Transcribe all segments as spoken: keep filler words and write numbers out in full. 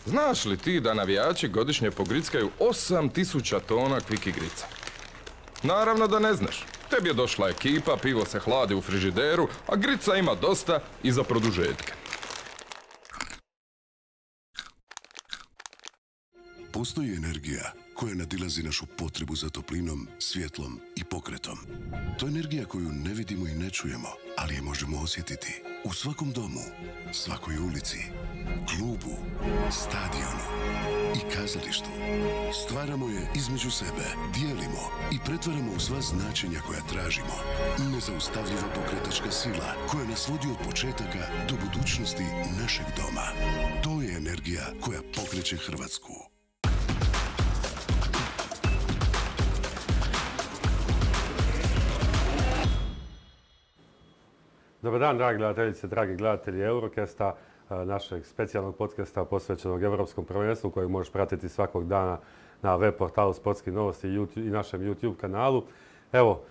Znaš li ti da navijači godišnje pogrickaju osam tisuća tona kvik igrica? Naravno da ne znaš. Tebi je došla ekipa, pivo se hladi u frižideru, a grica ima dosta i za produžetke. Postoji energija koja nadilazi našu potrebu za toplinom, svjetlom i pokretom. To je energija koju ne vidimo i ne čujemo, ali je možemo osjetiti u svakom domu, svakoj ulici, klubu, stadionu i kazalištu. Stvaramo je između sebe, dijelimo i pretvaramo u sva značenja koja tražimo. Nezaustavljiva pokretačka sila koja nas vodi od početaka do budućnosti našeg doma. To je energija koja pokreće Hrvatsku. Dobar dan, dragi gledateljice, dragi gledatelji Eurocasta, našeg specijalnog podcasta posvećenog Europskom prvenstvu kojeg možeš pratiti svakog dana na web portalu Sportskih novosti i našem YouTube kanalu. Evo,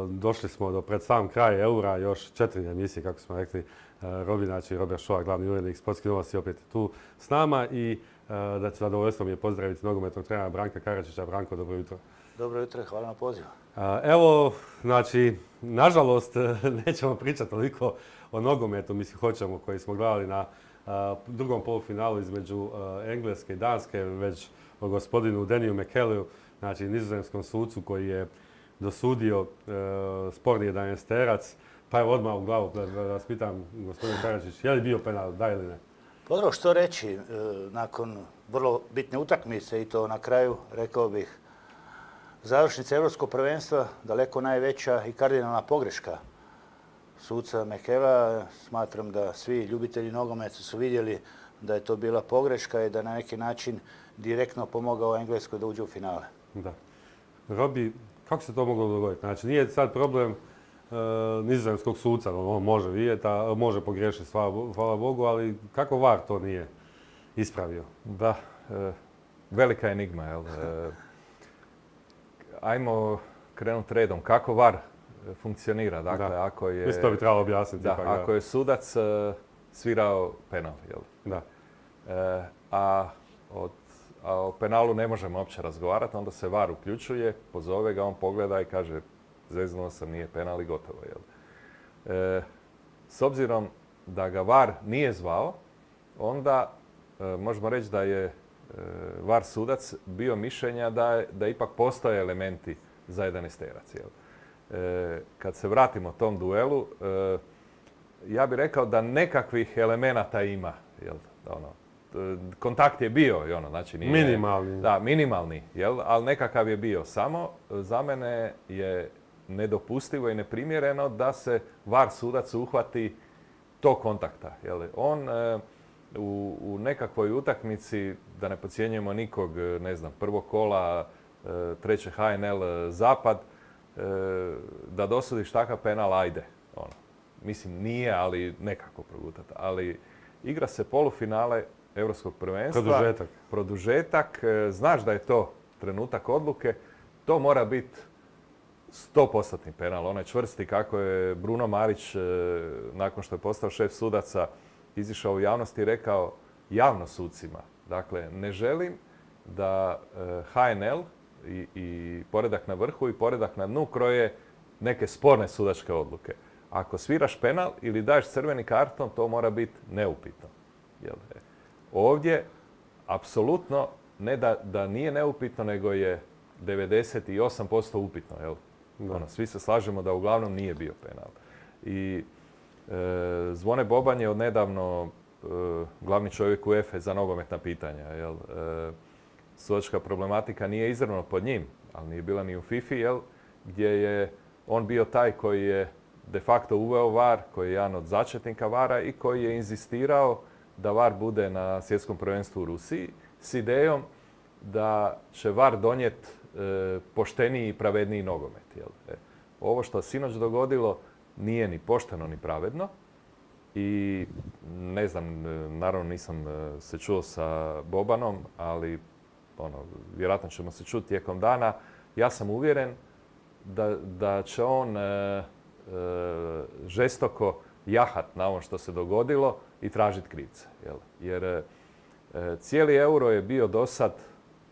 došli smo do pred sam kraj Eura, još četiri emisije, kako smo rekli. Robi, znači Robert Šoa, glavni urednik Sportskih novosti, opet tu s nama i da će zadovoljstvo mi je pozdraviti nogometnog trenera Branka Karačića. Branko, dobro jutro. Dobro jutro, hvala na pozivu. Evo, znači, nažalost, nećemo pričati toliko o nogometu, mislim, hoćemo, koji smo gledali na drugom polufinalu između Engleske i Danske, već o gospodinu Deniju McKelleu, znači nizozemskom sucu koji je dosudio sporni jedanaesterac. Pa evo odmah u glavu da vas pitam, gospodin Karačić, je li bio penal, da ili ne? Dobro, što reći, nakon vrlo bitne utakmice i to na kraju, rekao bih, završnica Europskog prvenstva, daleko najveća i kardinalna pogreška suca McKellea. Smatram da svi ljubitelji nogometa su vidjeli da je to bila pogreška i da na neki način direktno pomogao Engleskoj da uđe u finale. Da. Robi, kako se to moglo dogoditi? Znači, nije sad problem e, nizozemskog suca, on može vidjeti, a može pogriješiti, hvala Bogu, ali kako V A R to nije ispravio? Da, e, velika enigma, jel? E, Ajmo krenuti redom. Kako V A R funkcionira? Dakle, da. ako je... Mislim, to bi trebalo objasniti. Da, ipak, ako da. je sudac uh, svirao penal, jel? Da. E, a, od, a o penalu ne možemo uopće razgovarati, onda se V A R uključuje, pozove ga, on pogleda i kaže zeznuo sam, nije penal i gotovo, jel? E, s obzirom da ga V A R nije zvao, onda e, možemo reći da je V A R sudac bio mišljenja da, da ipak postoje elementi za jedanaesterac. E, kad se vratimo tom duelu, e, ja bih rekao da nekakvih elemenata ima. Jel? Ono, kontakt je bio, i ono, znači nije, minimalni. Da, minimalni, jel? Ali nekakav je bio. Samo za mene je nedopustivo i neprimjereno da se V A R sudac uhvati tog kontakta. Jel? On e, U, u nekakvoj utakmici, da ne podcjenjujemo nikog, ne znam, prvog kola, treće H N L Zapad, da dosudiš takav penal, ajde. Ono. Mislim, nije, ali nekako progutati. Ali igra se polufinale Europskog prvenstva. Produžetak. Produžetak. Znaš da je to trenutak odluke. To mora biti sto posto penal. Onaj čvrsti kako je Bruno Marić, nakon što je postao šef sudaca, izišao u javnosti i rekao javno sucima. Dakle, ne želim da H N L i, i poredak na vrhu i poredak na dnu kroje neke sporne sudačke odluke. Ako sviraš penal ili daješ crveni karton, to mora biti neupitno. Jel? Ovdje, apsolutno, ne da, da nije neupitno, nego je devedeset osam posto upitno. Jel? Ono, svi se slažemo da uglavnom nije bio penal. I E, Zvone Boban je odnedavno e, glavni čovjek UEFA za nogometna pitanja. Jel? E, sudačka problematika nije izravno pod njim, ali nije bila ni u FIFA, jel? Gdje je on bio taj koji je de facto uveo V A R, koji je jedan od začetnika V A R-a i koji je inzistirao da V A R bude na svjetskom prvenstvu u Rusiji s idejom da će V A R donijeti e, pošteniji i pravedniji nogomet. Jel? E, ovo što sinoć dogodilo nije ni pošteno ni pravedno i ne znam, naravno nisam se čuo sa Bobanom, ali ono, vjerojatno ćemo se čuti tijekom dana. Ja sam uvjeren da, da će on e, e, žestoko jahat na ovo što se dogodilo i tražiti krivce. Jel? Jer e, Cijeli euro je bio do sad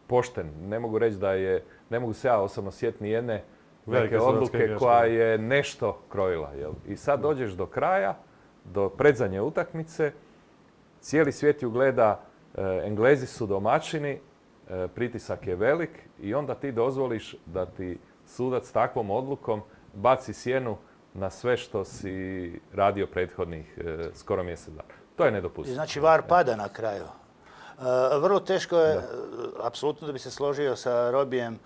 pošten. Ne mogu reći da je, ne mogu se ja osobno sjetiti ni jedne neke odluke koja je nešto krojila. Jel? I sad dođeš do kraja, do predzadnje utakmice, cijeli svijet ju gleda, Englezi su domaćini, pritisak je velik i onda ti dozvoliš da ti sudac takvom odlukom baci sjenu na sve što si radio prethodnih skoro mjesec dana. To je nedopustivo. Znači V A R pada na kraju. Vrlo teško je, apsolutno da bi se složio sa Robijem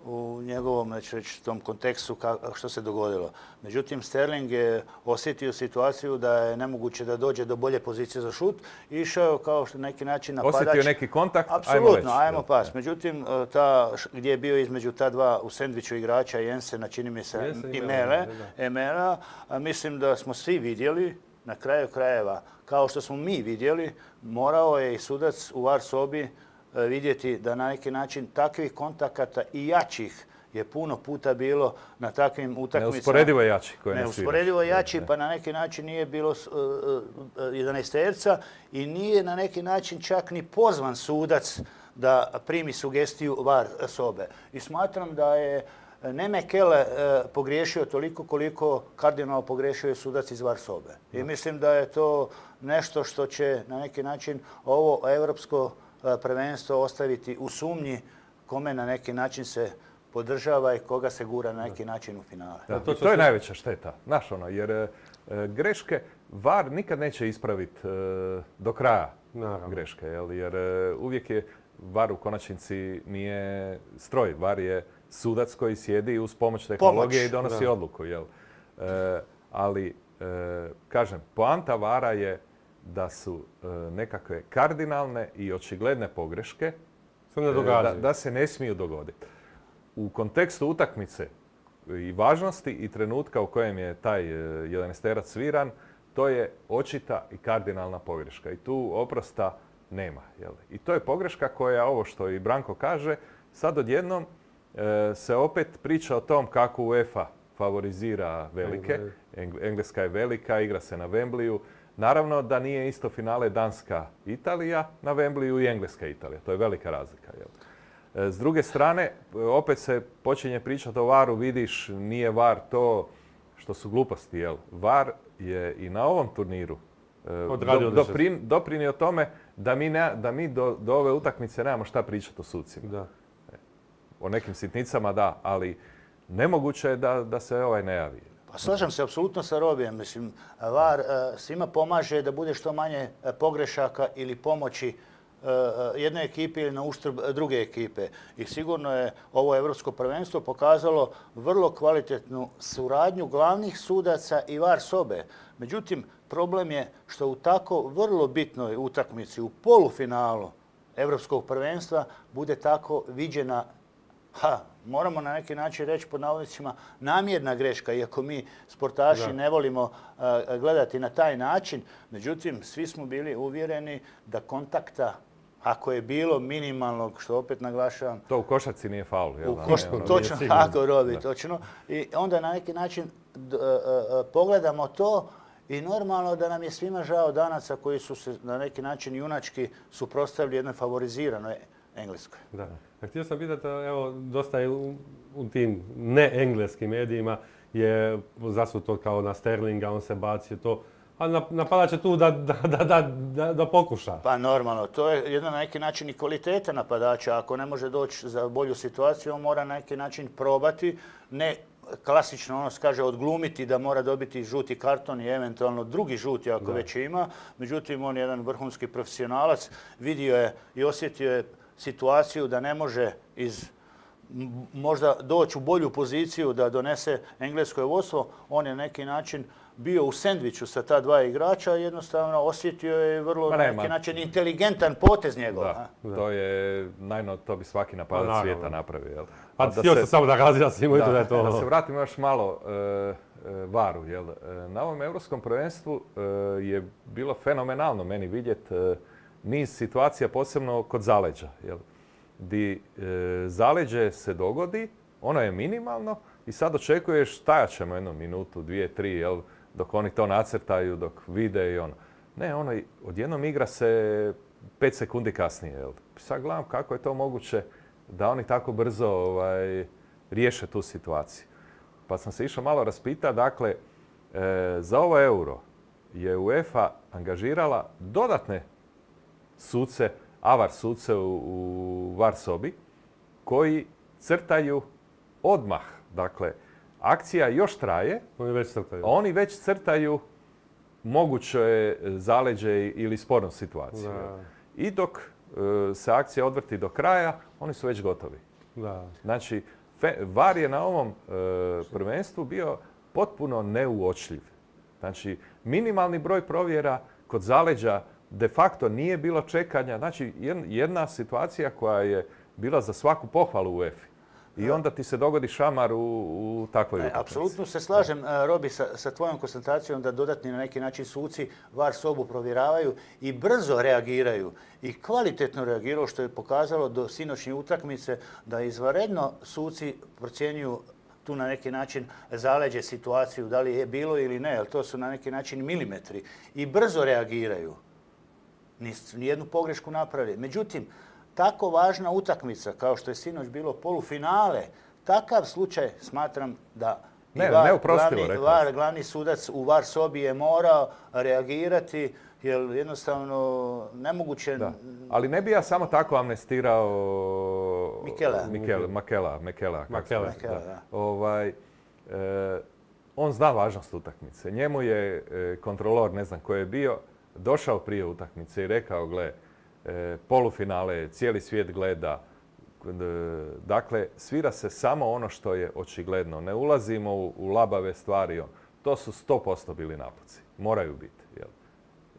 u njegovom, neću reći, tom kontekstu što se dogodilo. Međutim, Sterling je osjetio situaciju da je nemoguće da dođe do bolje pozicije za šut i išao kao što na neki način napadač. Osjetio neki kontakt, apsolutno, ajmo pas. Međutim, ta, gdje je bio između ta dva u sendviču igrača, Jensena, čini mi se, i Mele, Emela, mislim da smo svi vidjeli, na kraju krajeva, kao što smo mi vidjeli, morao je i sudac u V A R sobi vidjeti da na neki način takvih kontakata i jačih je puno puta bilo na takvim utakmicama. Neusporedivo jači. Neusporedivo jači, pa na neki način nije bilo jedanaesterca i nije na neki način čak ni pozvan sudac da primi sugestiju V A R sobe. I smatram da je ne Mekele pogriješio toliko koliko kardinalno pogriješio je sudac iz V A R sobe. I mislim da je to nešto što će na neki način ovo europsko prvenstvo ostaviti u sumnji kome na neki način se podržava i koga se gura na neki način u finale. Da, to, to je najveća šteta, znaš ono, jer e, greške V A R nikad neće ispraviti e, do kraja Naravno. greške, jel? Jer e, uvijek je V A R u konačnici nije stroj, V A R je sudac koji sjedi uz pomoć tehnologije pomoć. i donosi da. odluku, jel? E, ali, e, kažem, poanta V A R-a je da su e, nekakve kardinalne i očigledne pogreške se ne da, da se ne smiju dogoditi. U kontekstu utakmice i važnosti i trenutka u kojem je taj jedanaesterac sviran, to je očita i kardinalna pogreška. I tu oprosta nema. Jel? I to je pogreška koja, ovo što i Branko kaže, sad odjednom e, se opet priča o tom kako UEFA favorizira velike. Engleska je velika, igra se na Wembleyu. Naravno da nije isto finale Danska-Italija na Wembleyu i Engleska-Italija. To je velika razlika. Jel? S druge strane, opet se počinje pričati o V A R-u, vidiš, nije V A R to što su gluposti. Jel? V A R je i na ovom turniru do, doprin, doprinio tome da mi, ne, da mi do, do ove utakmice nemamo šta pričati o sucima. Da. O nekim sitnicama da, ali nemoguće je da, da se ovaj ne javi. Pa slažem se apsolutno sa Robijem. Mislim, V A R svima pomaže da bude što manje pogrešaka ili pomoći jednoj ekipi ili na uštrb druge ekipe. I sigurno je ovo Evropsko prvenstvo pokazalo vrlo kvalitetnu suradnju glavnih sudaca i V A R sobe. Međutim, problem je što u tako vrlo bitnoj utakmici, u polufinalu Evropskog prvenstva, bude tako viđena, ha, moramo na neki način reći pod navodnicima, namjerna greška, iako mi sportaši da. ne volimo uh, gledati na taj način. Međutim, svi smo bili uvjereni da kontakta, ako je bilo minimalnog, što opet naglašavam... To u košarci nije faul. U košarci, točno, tako Robi, točno. I onda na neki način d, uh, uh, pogledamo to i normalno da nam je svima žao danaca koji su se na neki način junački suprotstavili jednoj favoriziranoj Engleskoj. Da. A htio sam pitati, evo, dosta je u, u tim ne-engleskim medijima je zasuto kao na Sterlinga, on se bacio to. A napadač je tu da, da, da, da, da pokuša. Pa normalno, to je jedna na neki način i kvaliteta napadača. Ako ne može doći za bolju situaciju, on mora na neki način probati, ne klasično ono se kaže odglumiti da mora dobiti žuti karton i eventualno drugi žuti ako da. već ima. Međutim, on je jedan vrhunski profesionalac, vidio je i osjetio je situaciju da ne može iz možda doći u bolju poziciju da donese englesko vodstvo. On je na neki način bio u sendviču sa ta dva igrača, jednostavno osjetio je vrlo na neki način inteligentan potez njegov. Da, to je, najno, to bi svaki napadač svijeta napravio. Jel? Pa htio sam samo da razjasnim da, da je to... Da se vratimo još malo e, V A R-u. Jel? Na ovom Europskom prvenstvu e, je bilo fenomenalno meni vidjeti e, niz situacija, posebno kod zaleđa. Jel? Di e, zaleđe se dogodi, ono je minimalno i sad očekuješ stajat ćemo jednu minutu, dvije, tri, jel? Dok oni to nacrtaju, dok vide i ono. Ne, ono, odjednom igra se pet sekundi kasnije. Jel? Sad gledam kako je to moguće da oni tako brzo ovaj, riješe tu situaciju. Pa sam se išao malo raspitati, dakle, e, za ovo euro je UEFA angažirala dodatne suce, avar suce u, u var sobi, koji crtaju odmah. Dakle, akcija još traje, Oni već crtaju. oni već crtaju moguće zaleđe ili spornu situaciju. Da. I dok e, se akcija odvrti do kraja, oni su već gotovi. Da. Znači, fe, var je na ovom e, prvenstvu bio potpuno neuočljiv. Znači, minimalni broj provjera kod zaleđa de facto nije bilo čekanja. Znači, jedna situacija koja je bila za svaku pohvalu u UEFA. I onda ti se dogodi šamar u, u takvoj utakmici. Apsolutno se slažem, Robi, sa, sa tvojom konstatacijom da dodatni na neki način suci var sobu provjeravaju i brzo reagiraju i kvalitetno reagiraju, što je pokazalo do sinoćnje utakmice da izvanredno suci procjenjuju tu na neki način zaleđe situaciju, da li je bilo ili ne, jer to su na neki način milimetri i brzo reagiraju. Nijednu pogrešku napravili. Međutim, tako važna utakmica kao što je sinoć bilo polufinale, takav slučaj smatram da ne, var, neuprostivo, glavni, var, glavni sudac u var sobi je morao reagirati, jer jednostavno nemoguće... Da. Ali ne bi ja samo tako amnestirao Mikela. Mikel, Makela, Mekela. Makela, Makela, da. Ovaj, e, on zna važnost utakmice. Njemu je e, kontrolor, ne znam ko je bio, došao prije utakmice i rekao, gle, e, polufinale, cijeli svijet gleda. E, dakle, svira se samo ono što je očigledno. Ne ulazimo u, u labave stvari. To su sto posto bili napuci. Moraju biti. Jel?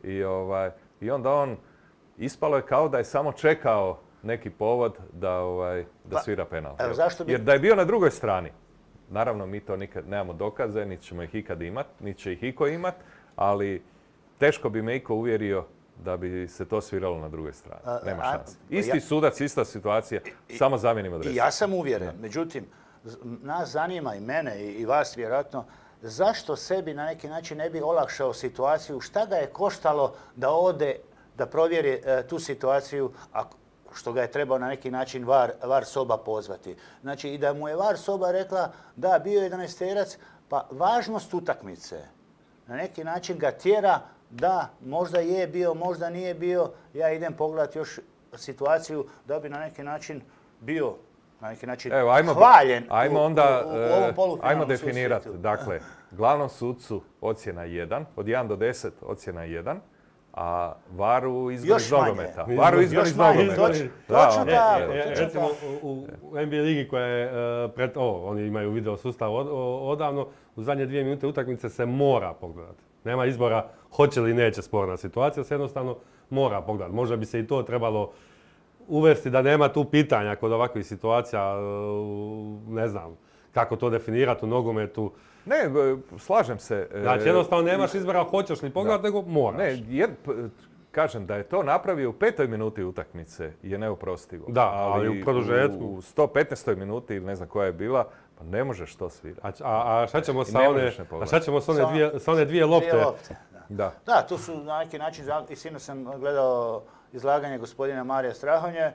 I, ovaj, I onda on, ispalo je kao da je samo čekao neki povod da, ovaj, da svira penal. Evo, zašto bi... Jer da je bio na drugoj strani, naravno mi to nikad nemamo dokaze, niti ćemo ih ikad imat, niti će ih iko imat, ali teško bi me iko uvjerio da bi se to sviralo na drugoj strani. Nema šanse. Isti sudac, ista situacija, I, samo zamijenimo adresu. I ja sam uvjeren. Da. Međutim, nas zanima i mene i, i vas vjerojatno, zašto sebi na neki način ne bi olakšao situaciju? Šta ga je koštalo da ode, da provjeri e, tu situaciju, a što ga je trebao na neki način var, var soba pozvati? Znači, i da mu je var soba rekla da, bio je jedanaesterac, pa važnost utakmice na neki način ga tjera da možda je bio, možda nije bio. Ja idem pogledati još situaciju da bi na neki način bio na neki način Evo, ajmo, hvaljen ajmo u, onda, u, u ovom polufinalnom ajmo definirati. Dakle, glavnom sudcu ocjena jedan, od jedan do deset ocjena jedan, a varu izgor iz nogometa. Varu izgor iz nogometa. Točno tako. Recimo u, u N B A ligi koja je uh, pred, o, oni imaju video sustav od, odavno, u zadnje dvije minute utakmice se mora pogledati. Nema izbora hoće li neće sporna situacija, se jednostavno mora pogledati. Možda bi se i to trebalo uvesti da nema tu pitanja kod ovakvih situacija, ne znam kako to definirati u nogometu. Ne, slažem se. Znači jednostavno nemaš izbora hoćeš li pogledati, nego moraš. Ne, jer, kažem da je to napravio u petoj minuti utakmice je neoprostivo. Da, ali, ali u produžetku. U sto petnaestoj minuti ili ne znam koja je bila, pa ne možeš to svirati. A, a šta ćemo sa one, a šta ćemo sa one dvije, sa one dvije lopte? Dvije lopte da. Da. Da, tu su na neki način, i sinoć sam gledao izlaganje gospodina Marija Strahonje,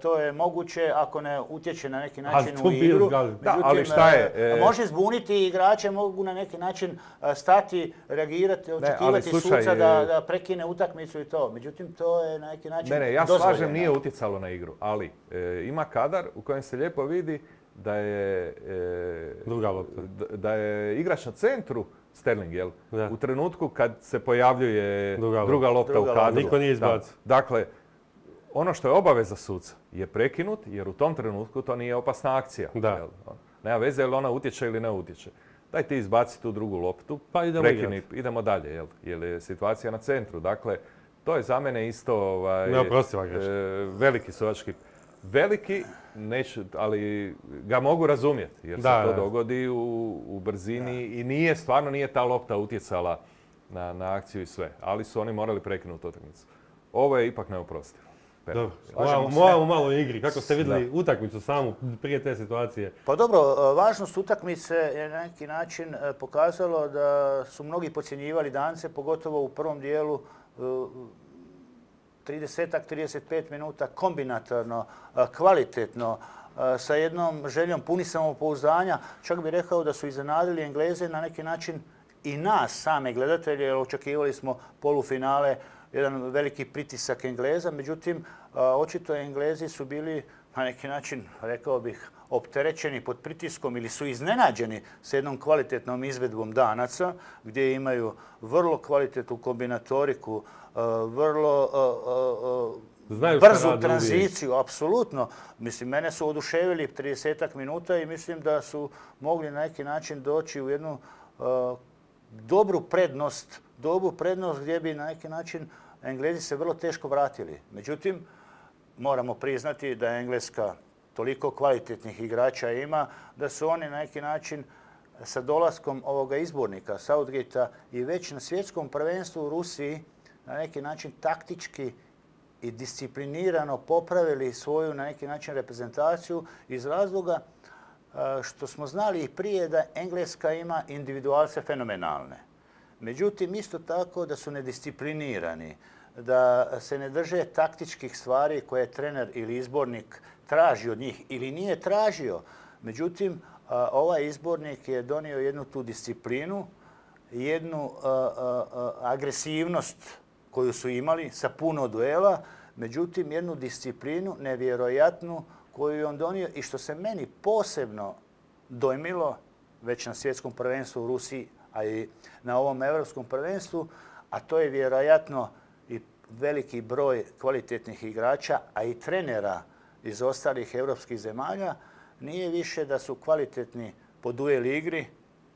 to je moguće ako ne utječe na neki način u igru. Da, ali šta je? E... Može zbuniti igrače, mogu na neki način stati, reagirati, očekivati ne, suca da, da prekine utakmicu i to. Međutim, to je na neki način ne, ne, ja dozvoljeno. slažem, nije utjecalo na igru, ali e, ima kadar u kojem se lijepo vidi da je, e, Druga lopta. da je igrač na centru Sterling, jel? Da. U trenutku kad se pojavljuje druga, druga lopta druga u kadru. Niko nije izbacio. Da. Dakle, ono što je obaveza suca je prekinut, jer u tom trenutku to nije opasna akcija. Da. Jel? Nema veze jel ona utječe ili ne utječe. Daj ti izbaci tu drugu loptu, pa idemo, prekini, idemo dalje, jel? Jer je situacija na centru. Dakle, to je za mene isto ovaj, e, veliki sudački. Veliki, neću, ali ga mogu razumjeti jer da, se to da. dogodi u, u brzini da. I nije, stvarno nije ta lopta utjecala na, na akciju i sve, ali su oni morali prekinuti utakmicu. Ovo je ipak neoprostivo. Dobro, moramo malo u igri. Kako ste vidjeli da. Utakmicu samu prije te situacije? Pa dobro, važnost utakmice je na neki način pokazalo da su mnogi podcjenjivali Dance, pogotovo u prvom dijelu. trideset trideset pet minuta kombinatorno, kvalitetno, sa jednom željom puni samopouzdanja. Čak bih rekao da su iznenadili Engleze na neki način i nas, same gledatelje, jer očekivali smo polufinale, jedan veliki pritisak Engleza. Međutim, očito Englezi su bili na neki način, rekao bih, opterećeni pod pritiskom ili su iznenađeni s jednom kvalitetnom izvedbom Danaca, gdje imaju vrlo kvalitetnu kombinatoriku, vrlo Znaju brzu tranziciju, apsolutno. Mislim, mene su oduševili trideset minuta i mislim da su mogli na neki način doći u jednu dobru prednost, dobru prednost gdje bi na neki način Englezi se vrlo teško vratili. Međutim, moramo priznati da Engleska toliko kvalitetnih igrača ima da su oni na neki način sa dolaskom ovoga izbornika Southgatea i već na svjetskom prvenstvu u Rusiji na neki način taktički i disciplinirano popravili svoju na neki način reprezentaciju iz razloga što smo znali i prije da Engleska ima individualce fenomenalne. Međutim, isto tako da su nedisciplinirani, da se ne drže taktičkih stvari koje trener ili izbornik traži od njih ili nije tražio. Međutim, ovaj izbornik je donio jednu tu disciplinu, jednu agresivnost koju su imali sa puno duela, međutim jednu disciplinu nevjerojatnu koju je on donio i što se meni posebno dojmilo već na svjetskom prvenstvu u Rusiji, a i na ovom europskom prvenstvu, a to je vjerojatno i veliki broj kvalitetnih igrača, a i trenera iz ostalih europskih zemalja, nije više da su kvalitetni po duel igri,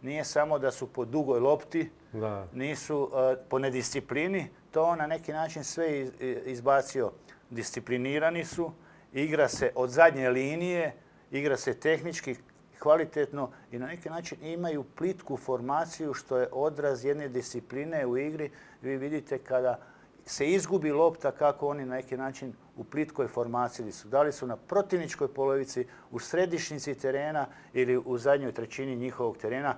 nije samo da su po dugoj lopti, da. Nisu uh, po nedisciplini, to on na neki način sve iz, izbacio. Disciplinirani su, igra se od zadnje linije, igra se tehnički kvalitetno i na neki način imaju plitku formaciju što je odraz jedne discipline u igri. Vi vidite kada se izgubi lopta kako oni na neki način u plitkoj formaciji su. Da li su na protivničkoj polovici, u središnjici terena ili u zadnjoj trećini njihovog terena.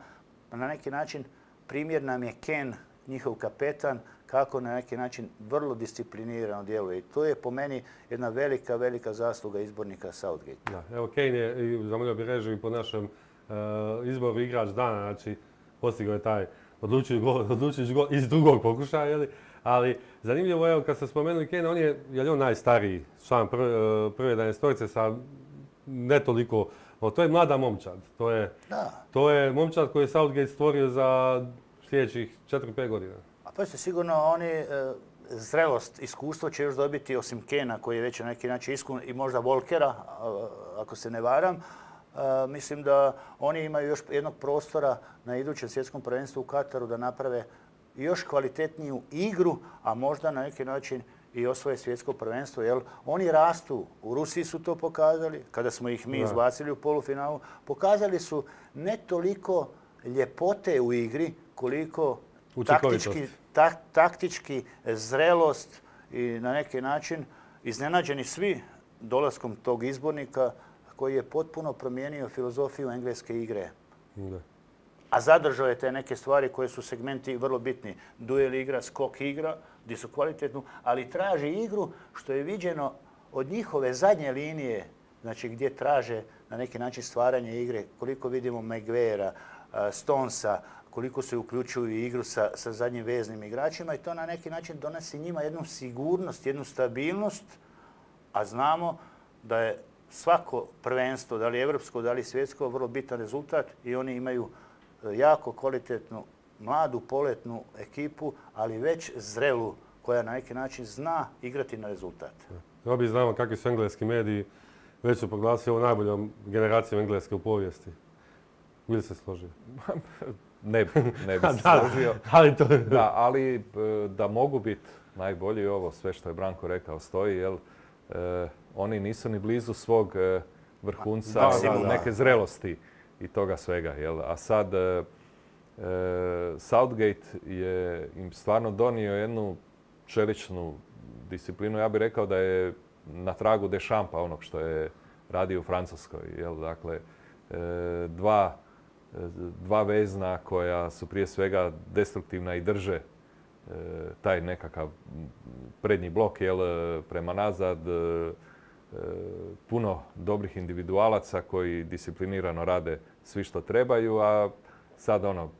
Na neki način primjer nam je Ken, njihov kapetan, kako na neki način vrlo disciplinirano djeluje. I to je po meni jedna velika, velika zasluga izbornika Southgate. Da, evo Kane je, zamolio bih režiju po našem uh, izboru igrač dana, znači postigao je taj odlučujući gol, odlučujući gol iz drugog pokušaja, jeli? Ali zanimljivo je, kad ste spomenuli Kane, on je, je li on najstariji član prve, prve jedanaestorice sa ne toliko, no, to je mlada momčad. To je, to je momčad koji je Southgate stvorio za sljedećih četiri pet godina. A pa ste sigurno oni e, zrelost, iskustvo će još dobiti osim Kena koji je već na neki način iskun i možda Volkera, ako se ne varam. E, mislim da oni imaju još jednog prostora na idućem svjetskom prvenstvu u Kataru da naprave još kvalitetniju igru, a možda na neki način i osvoje svjetsko prvenstvo. Jer oni rastu, u Rusiji su to pokazali, kada smo ih mi izbacili u polufinalu, pokazali su ne toliko ljepote u igri, koliko taktički, ta, taktički zrelost i na neki način iznenađeni svi dolaskom tog izbornika koji je potpuno promijenio filozofiju engleske igre. Da. A zadržao je te neke stvari koje su segmenti vrlo bitni. Duel igra, skok igra, gdje su kvalitetnu, ali traži igru što je viđeno od njihove zadnje linije, znači gdje traže na neki način stvaranje igre, koliko vidimo Maguirea, Stonesa, koliko se uključuju u igru sa, sa zadnjim veznim igračima i to na neki način donosi njima jednu sigurnost, jednu stabilnost, a znamo da je svako prvenstvo, da li evropsko, da li svjetsko, vrlo bitan rezultat i oni imaju jako kvalitetnu, mladu, poletnu ekipu, ali već zrelu, koja na neki način zna igrati na rezultat. Robi, znamo kakvi su engleski mediji, već su proglasili ovo najboljom generacijom engleske u povijesti. Bili se složio? Ne bi, ne bi se složio. ali, to... da, ali da mogu biti najbolji, ovo sve što je Branko rekao stoji, jer eh, oni nisu ni blizu svog eh, vrhunca, da, da, da. neke zrelosti i toga svega. Jel? A sad eh, Southgate je im stvarno donio jednu čeličnu disciplinu. Ja bih rekao da je na tragu Deschampa onog što je radio u Francuskoj. Jel? Dakle, eh, dva Dva vezna koja su prije svega destruktivna i drže taj nekakav prednji blok jel, prema nazad, puno dobrih individualaca koji disciplinirano rade svi što trebaju, a sad ono,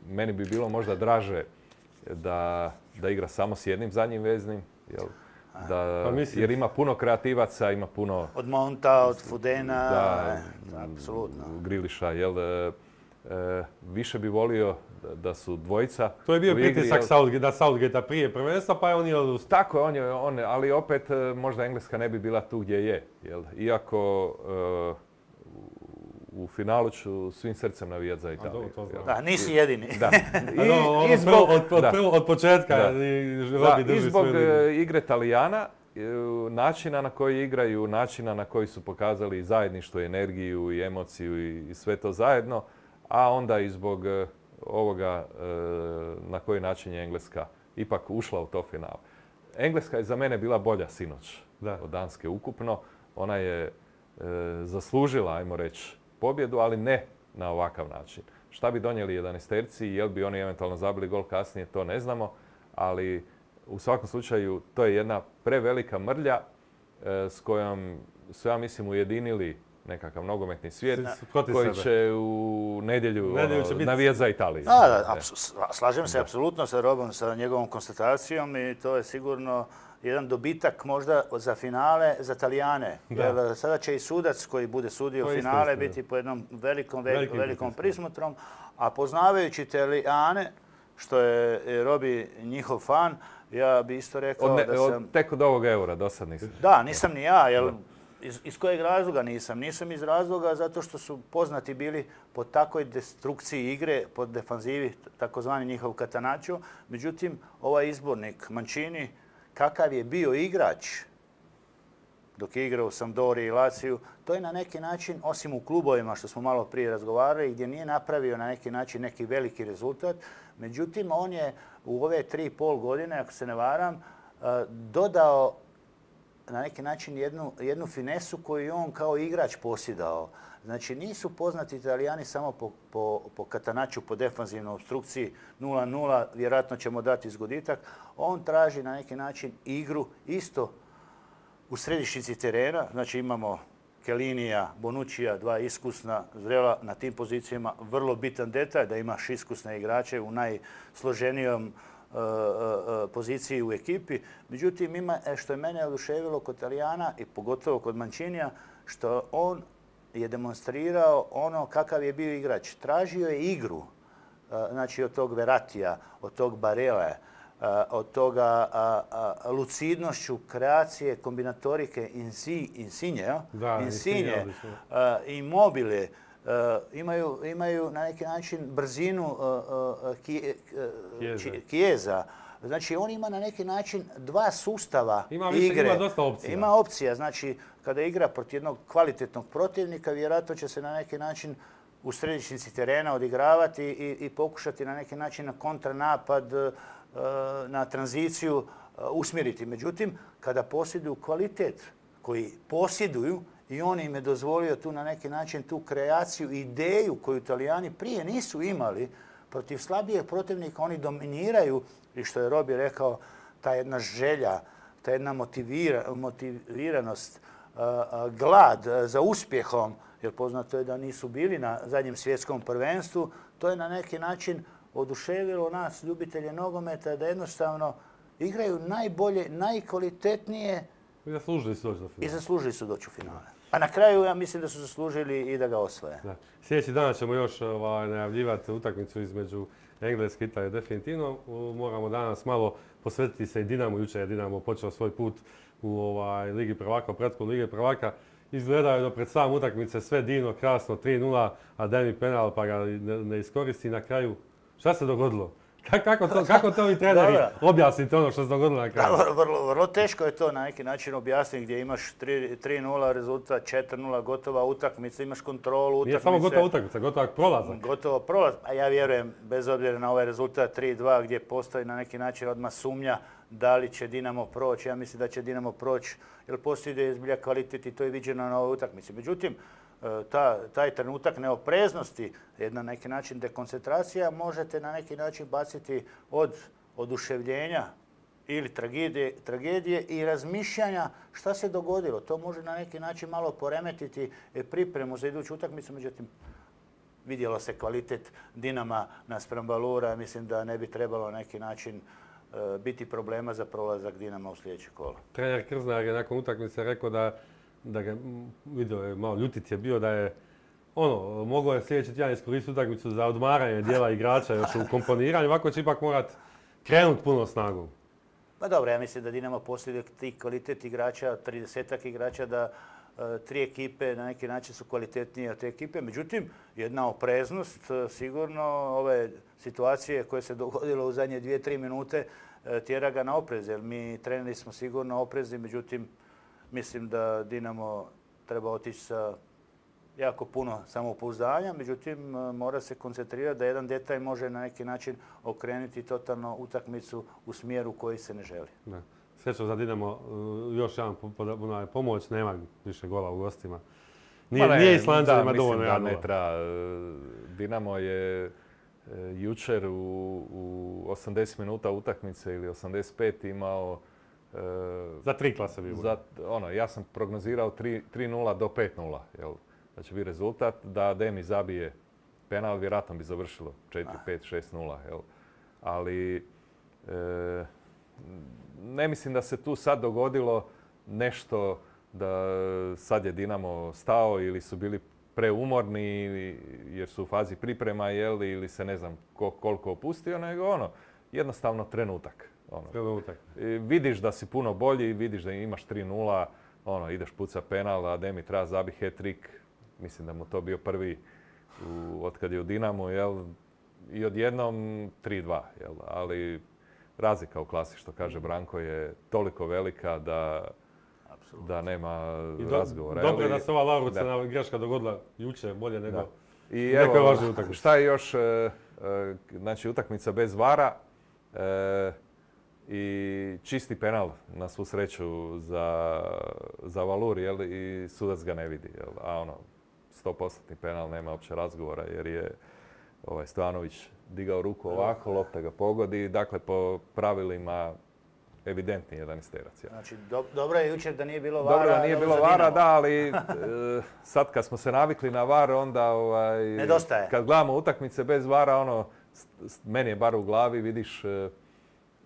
meni bi bilo možda draže da, da igra samo s jednim zadnjim veznim, jel? Da, pa mislim, jer ima puno kreativaca, ima puno... Od Monta, od Fudena, da, apsolutno. Griliša, jel? E, e, više bi volio da, da su dvojica. To je bio u igri, pritisak jel? Southgate, da Southgate prije prvenstva, pa je on je odustao. Tako je, on je, on, ali opet možda Engleska ne bi bila tu gdje je. Jel? Iako e, u finalu ću svim srcem navijati za Italiju. A, to, to da, nisi jedini. Da. I, no, ono, i zbog, od, od, da. od početka Da. i, Da, drži i zbog svoju e, igre Talijana, e, načina na koji igraju, načina na koji su pokazali zajedništvo, energiju i emociju i, i sve to zajedno, a onda i zbog e, ovoga e, na koji način je Engleska ipak ušla u to final. Engleska je za mene bila bolja sinoć Da. od Danske ukupno. Ona je e, zaslužila, ajmo reći, pobjedu, ali ne na ovakav način. Šta bi donijeli jedanaesterci, jel bi oni eventualno zabili gol kasnije, to ne znamo, ali u svakom slučaju to je jedna prevelika mrlja e, s kojom su, ja mislim, ujedinili nekakav nogometni svijet Protiv koji sebe. će u nedjelju, Nedjelju će ono, biti- navijati za Italiju. Da, da, apsu- slažem se apsolutno sa Robom, sa njegovom konstatacijom i to je sigurno jedan dobitak možda za finale za Talijane. Da. Jer sada će i sudac koji bude sudio To je isto finale istina. biti po jednom velikom, ve- Velikim velikom pritiskom. prismotrom, a poznavajući Talijane, što je Robi njihov fan, ja bi isto rekao Od ne- da od- sam... tek od ovog eura, do sad nisam. Da, nisam ni ja, jer iz, iz kojeg razloga nisam? Nisam iz razloga zato što su poznati bili po takvoj destrukciji igre, po defanzivi, takozvani njihov Catenaccio. Međutim, ovaj izbornik Mancini, kakav je bio igrač dok je igrao u Sampdori i Laziju, to je na neki način, osim u klubovima što smo malo prije razgovarali, gdje nije napravio na neki način neki veliki rezultat. Međutim, on je u ove tri i pol godine, ako se ne varam, eh, dodao na neki način jednu, jednu finesu koju je on kao igrač posjedao. Znači, nisu poznati Italijani samo po, po, po Catenacciju, po defanzivnoj obstrukciji nula nula, vjerojatno ćemo dati zgoditak. On traži na neki način igru isto u središnjici terena. Znači, imamo Kellinija, Bonuccija, dva iskusna, zrela na tim pozicijama. Vrlo bitan detalj da imaš iskusne igrače u najsloženijom poziciji u ekipi. Međutim, ima što je mene oduševilo kod Talijana i pogotovo kod Mancinija, što on je demonstrirao ono kakav je bio igrač. Tražio je igru, znači od tog Veratija, od tog Barele, od toga lucidnošću kreacije, kombinatorike Insigne, Da, Insigne, Insigne, odlično. Immobile, Uh, imaju, imaju na neki način brzinu uh, uh, kije, uh, Chiesa. či- Chiesa. Znači, on ima na neki način dva sustava Ima više, igre. ima dosta opcija. Ima opcija. Znači, kada igra protiv jednog kvalitetnog protivnika, vjerojatno će se na neki način u središnjici terena odigravati i, i pokušati na neki način na kontranapad, uh, na tranziciju uh, usmjeriti. Međutim, kada posjeduju kvalitet koji posjeduju, i on im je dozvolio tu na neki način tu kreaciju, ideju koju Italijani prije nisu imali. Protiv slabijeg protivnika oni dominiraju i što je Robi rekao, ta jedna želja, ta jedna motivira, motiviranost, uh, uh, glad za uspjehom, jer poznato je da nisu bili na zadnjem svjetskom prvenstvu, to je na neki način oduševilo nas, ljubitelje nogometa, da jednostavno igraju najbolje, najkvalitetnije I zaslužili su doći do i finala. zaslužili su doći u finale. A na kraju ja mislim da su zaslužili i da ga osvoje. Da. Sljedeći dan ćemo još ovaj, najavljivati utakmicu između Engleske i Italije. Definitivno U- moramo danas malo posvetiti se i Dinamu. Jučer je Dinamo počeo svoj put u ovaj, Ligi prvaka, u pretku Lige prvaka. Izgledao je do pred sam utakmice sve divno, krasno, tri nula, a Demi penal pa ga ne, ne iskoristi na kraju. Šta se dogodilo? Ka- Kako to, kako to vi treneri Dobro. objasnite ono što se dogodilo na kraju? Da, vrlo, vrlo, vrlo teško je to na neki način objasniti gdje imaš tri nula rezultat, četiri nula gotova utakmica, imaš kontrolu utakmice. Nije samo gotova utakmica, gotova prolazak. Gotovo prolaz. A ja vjerujem, bez obzira na ovaj rezultat tri dva gdje postoji na neki način odmah sumnja da li će Dinamo proći. Ja mislim da će Dinamo proći jer postoji zbilja kvalitet i to je viđeno na ovoj utakmici. Međutim, ta, taj trenutak neopreznosti, jedna na neki način dekoncentracija, možete na neki način baciti od oduševljenja ili tragedije, tragedije i razmišljanja šta se dogodilo. To može na neki način malo poremetiti pripremu za iduću utakmicu, međutim, vidjelo se kvalitet Dinama naspram Valura. Mislim da ne bi trebalo na neki način e, biti problema za prolazak Dinama u sljedeće kolo. Trener Krznar je nakon utakmice rekao da, da ga vidio je malo ljutit je bio da je ono, mogao je sljedeći tjedan iskoristiti utakmicu za odmaranje dijela igrača još u komponiranju, ovako će ipak morat krenuti puno snagom. Pa dobro, ja mislim da Dinamo posjeduje tih kvalitet igrača, tridesetak igrača, da e, tri ekipe na neki način su kvalitetnije od te ekipe. Međutim, jedna opreznost, e, sigurno ove situacije koje se dogodilo u zadnje dvije, tri minute e, tjera ga na oprez. Jer mi treneri smo sigurno oprezni, međutim, mislim da Dinamo treba otići sa jako puno samopouzdanja, međutim mora se koncentrirati da jedan detalj može na neki način okrenuti totalno utakmicu u smjeru koji se ne želi. Da. Srećom za Dinamo, još jedan pomoć, nema više gola u gostima. Nije, nije Islanđanima dovoljno jedan ne treba. Dinamo je jučer u, u osamdeset minuta utakmice ili osamdeset pet imao za tri klase bi za, ono, ja sam prognozirao tri nula do pet nula. Jel? Da će biti rezultat, da Demi zabije penal, vjerojatno bi završilo četiri pet šest nula. Jel? Ali e, ne mislim da se tu sad dogodilo nešto da sad je Dinamo stao ili su bili preumorni jer su u fazi priprema jeli, ili se ne znam ko, koliko opustio, nego ono, jednostavno trenutak. Ono. Trenutak. I vidiš da si puno bolji, vidiš da imaš tri nula, ono, ideš puca penal, a Demi treba zabi hat-trick. Mislim da mu to bio prvi u, od kad je u Dinamu, jel? I odjednom tri dva. Jel? Ali razlika u klasi, što kaže Branko, je toliko velika da, da nema I do, razgovora. Dobro je da se ova Laurucena greška dogodila jučer, bolje nego I evo, šta je još, e, e, znači utakmica bez vara e, i čisti penal na svu sreću za, za Valur, jel? I sudac ga ne vidi. Jel? A ono, sto posto penal, nema uopće razgovora jer je ovaj, Stojanović digao ruku ovako, lopta ga pogodi. Dakle, po pravilima evidentni jedanaesterac. Ja. Znači, do, dobro je jučer da nije bilo vara. Dobro da nije bilo vara, da, ali e, sad kad smo se navikli na var, onda ovaj, nedostaje. Kad gledamo utakmice bez vara, ono, meni je bar u glavi, vidiš e,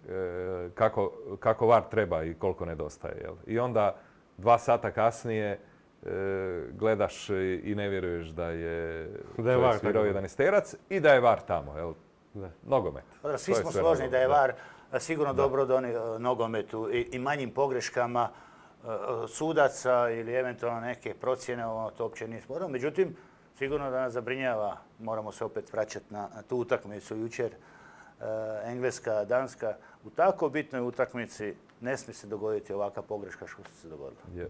e, kako, kako var treba i koliko nedostaje. Jel? I onda dva sata kasnije e, gledaš i ne vjeruješ da je, da je var svirao jedanaesterac i da je var tamo. Jel? Da. Nogomet. Da, svi smo složni da je var sigurno da. dobro doni uh, nogometu i, i manjim pogreškama uh, sudaca ili eventualno neke procjene, ono, to uopće nije sporno. Međutim, sigurno da nas zabrinjava, moramo se opet vraćati na, na tu utakmicu jučer, uh, Engleska, Danska. U tako bitnoj utakmici ne smije se dogoditi ovakva pogreška što se dogodila. Yeah.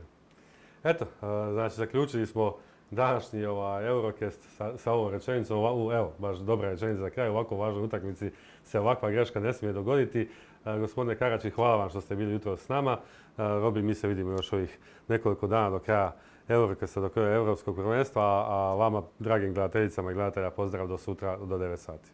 Eto, uh, znači zaključili smo današnji ovaj, Eurocast sa, sa ovom rečenicom. Evo, baš dobra rečenica za kraj. U ovako važnoj utakmici se ovakva greška ne smije dogoditi. E, gospodine Karači, hvala vam što ste bili jutro s nama. E, Robi, mi se vidimo još ovih nekoliko dana do kraja Eurocasta, do kraja Europskog prvenstva. A, a vama, dragim gledateljicama i gledatelja, pozdrav do sutra do devet sati.